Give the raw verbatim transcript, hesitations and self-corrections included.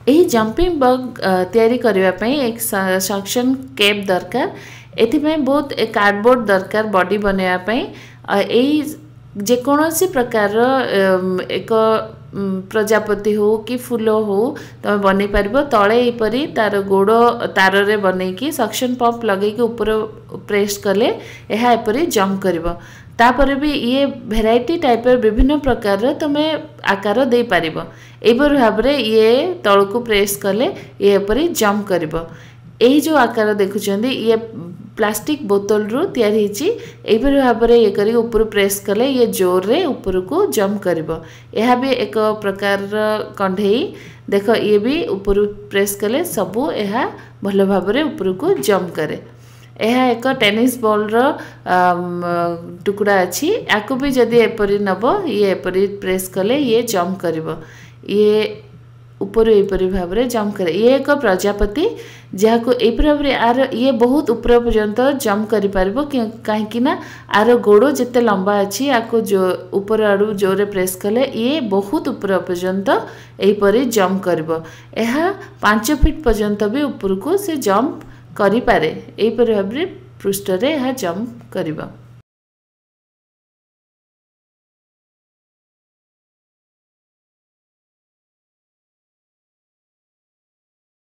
ଏହି ଜମ୍ପିଂ ବଗ୍ ତିଆରି କରିବା ପାଇଁ ଏକ ସକ୍ସନ୍ କେପ୍ ଦରକାର। ଏଥିପାଇଁ ବହୁତ କାର୍ଡ଼ବୋର୍ଡ଼ ଦରକାର ବଡି ବନେଇବା ପାଇଁ। ଏଇ ଯେକୌଣସି ପ୍ରକାରର ଏକ ପ୍ରଜାପତି ହଉ କି ଫୁଲ ହଉ, ତୁମେ ବନେଇ ପାରିବ। ତଳେ ଏହିପରି ତାର ଗୋଡ଼ ତାରରେ ବନେଇକି ସକ୍ସନ୍ ପମ୍ପ ଲଗେଇକି ଉପର ପ୍ରେସ୍ କଲେ ଏହା ଏପରି ଜମ୍ପ କରିବ। ତାପରେ ବି ଇଏ ଭେରାଇଟି ଟାଇପ୍ର, ବିଭିନ୍ନ ପ୍ରକାରର ତୁମେ ଆକାର ଦେଇପାରିବ। ଏହିପରି ଭାବରେ ଇଏ ତଳକୁ ପ୍ରେସ୍ କଲେ ଇଏ ଏପରି ଜମ୍ପ କରିବ। ଏଇ ଯେଉଁ ଆକାର ଦେଖୁଛନ୍ତି, ଇଏ ପ୍ଲାଷ୍ଟିକ୍ ବୋତଲରୁ ତିଆରି ହେଇଛି। ଏହିପରି ଭାବରେ ଇଏ କରିକି ଉପରୁ ପ୍ରେସ୍ କଲେ ଇଏ ଜୋରରେ ଉପରକୁ ଜମ୍ପ କରିବ। ଏହା ବି ଏକ ପ୍ରକାରର କଣ୍ଢେଇ। ଦେଖ, ଇଏ ବି ଉପରୁ ପ୍ରେସ୍ କଲେ ସବୁ ଏହା ଭଲ ଭାବରେ ଉପରକୁ ଜମ୍ପ କରେ। ଏହା ଏକ ଟେନିସ୍ ବଲ୍ର ଟୁକୁଡ଼ା ଅଛି। ୟାକୁ ବି ଯଦି ଏପରି ନେବ, ଇଏ ଏପରି ପ୍ରେସ୍ କଲେ ଇଏ ଜମ୍ପ କରିବ। ଇଏ ଉପରୁ ଏହିପରି ଭାବରେ ଜମ୍ପ କରେ। ଇଏ ଏକ ପ୍ରଜାପତି, ଯାହାକୁ ଏହିପରି ଭାବରେ ଆର ଇଏ ବହୁତ ଉପର ପର୍ଯ୍ୟନ୍ତ ଜମ୍ପ କରିପାରିବ, କାହିଁକି ନା ଆର ଗୋଡ଼ ଯେତେ ଲମ୍ବା ଅଛି, ଆକୁ ଉପର ଆଡ଼ୁ ଜୋରରେ ପ୍ରେସ୍ କଲେ ଇଏ ବହୁତ ଉପର ପର୍ଯ୍ୟନ୍ତ ଏହିପରି ଜମ୍ପ କରିବ। ଏହା ପାଞ୍ଚ ଫିଟ୍ ପର୍ଯ୍ୟନ୍ତ ବି ଉପରକୁ ସେ ଜମ୍ପ କରିପାରେ। ଏହିପରି ଭାବରେ ପୃଷ୍ଠରେ ଏହା ଜମ୍ପ କରିବ।